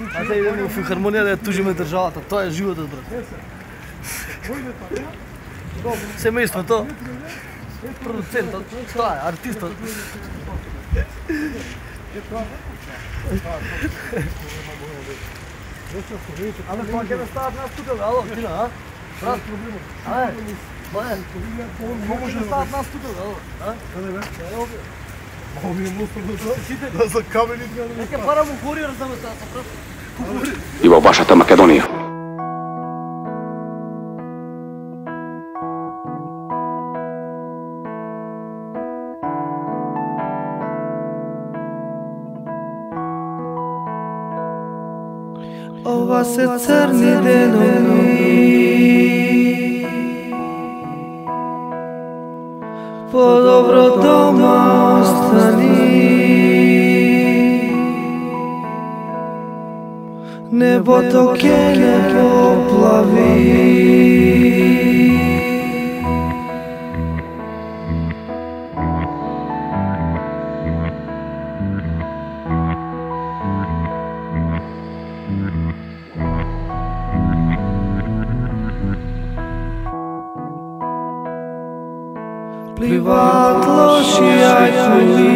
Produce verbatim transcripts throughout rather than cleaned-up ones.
А да идеме во филхармонија да ја тужиме државата. Тоа е животот, брат. Семејството, продуцентот, тоа е, артистот. Ама тоа ќе ме стават нас тука, бе, ало, Тина, а? Брат, аје, Бојан, кога ќе стават нас тука, бе, ало, а? Каде, бе? Мао ми е мусор да за камените. Нека пара му кориер да ме стават, брат. И во вашата Македонија. Ова се црни денови, подобро дома остани. Небото ќе не поплави. Пливаат лоши ајкули.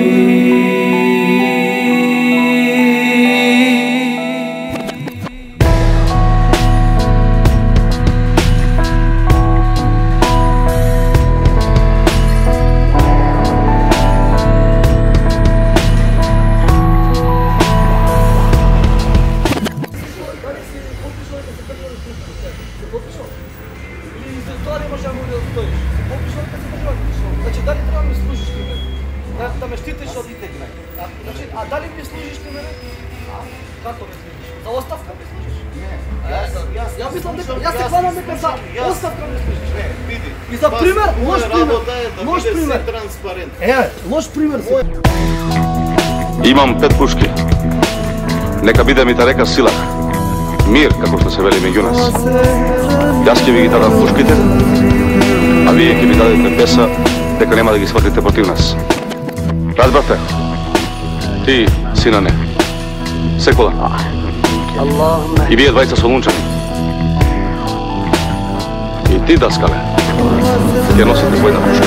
Значи, дали треба да ми служиш ти мене? Да, да ме штитиш од итегна. Значи, а дали ми служиш ти мене? А? Како ме служиш? За оставка ме служиш? Не. Јас, јас мислам дека јас се хванам дека за оставка ме служиш. Не, види. И за пример, лош пример. Лош пример. Е, лош пример си. Имам пет пушки. Нека биде ми та река Силах. Мир, како што се вели меѓу нас. Јас ќе ви ги дадам пушките, а вие ќе ми дадете песа дека нема да ги сватите против нас. Разбрате? Ти, синане, Секула. И вие двајца солунчани. И ти, Даскале, ќе носите војна пушка.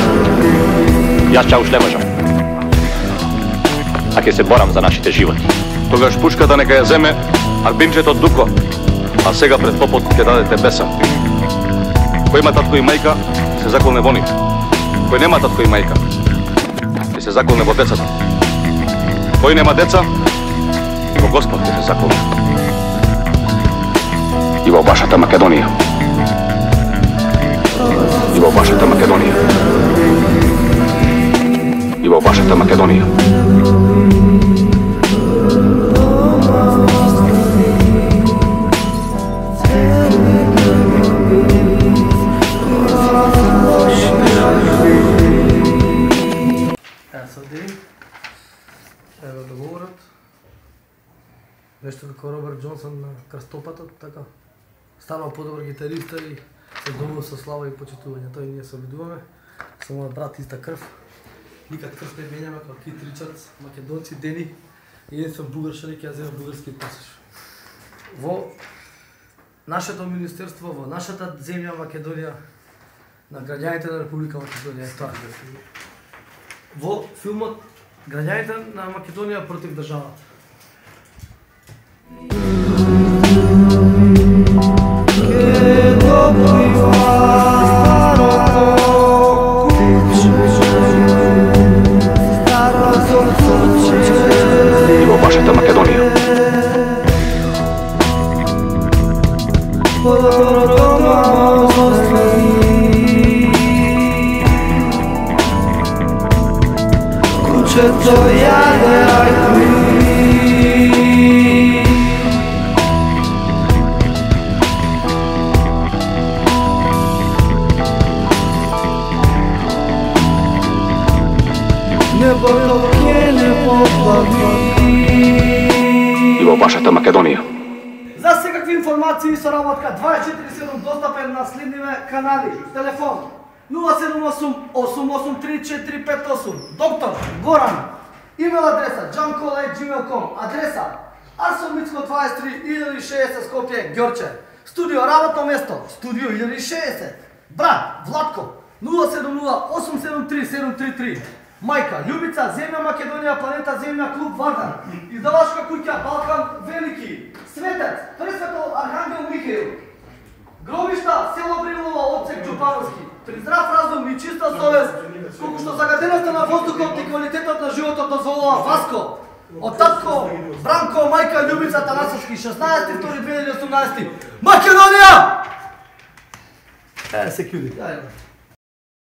Јас чауш не можам. А ќе се борам за нашите животи. Тогаш пушката нека ја земе Арбинчето Дуко, а сега пред попот ќе дадете песа. Кој има татко и мајка, се заколне во нив. Кој нема татко и мајка, ќе се заколне во децата. Кој нема деца, во Господ ќе се заколне. И во вашата Македонија. И во вашата Македонија. И во вашата Македонија. Ево договорот. Нешто како Роберт Џонсон на крстопатот, така. Станал подобар гитариста и се добил со слава и почитување. Тој ние се обидуваме. Со мојот брат иста крв. Никад крв не менјаме како Кит Ричардс, македонци, Дени. Единствен бугаршаник, ја земам бугарски пасош. Во нашето министерство, во нашата земја Македонија, на граѓаните на Република Македонија, тоа. Во филмот граѓаните на Македонија против државата. И во вашата Македонија. Кучето јаде ајкули. Небото ќе не поплави. И во вашата Македонија. За секакви информации со работка дваесет и четири седум достапен на следниве канали. Телефон нула седум осум осум осум три четири пет осум. Доктор Горан. Имейл адреса джанкол ет џимейл точка ком. Адреса Арсен Мицко дваесет и три илјади и шеесет Скопје, Ѓорче. Студио работно место, студио илјади и шеесет. Брат, Владко, нула седум нула осум седум три седум три три. Мајка, Љубица, Земја Македонија, Планета Земја, Клуб Вардар. Издавачка куќа Балкан Велики. Светец, Пресветол Архангел Михаил. Гробишта, село Брилово, Отсек Џопановски. При здрав разум и чиста совест, колку што загаденоста на воздухот и квалитетот на животот дозволува Васко. Од татко, Бранко, мајка, Љубица Танасовски, шеснаесети втори две илјади и осумнаесети. Македонија! Е, се кјуди.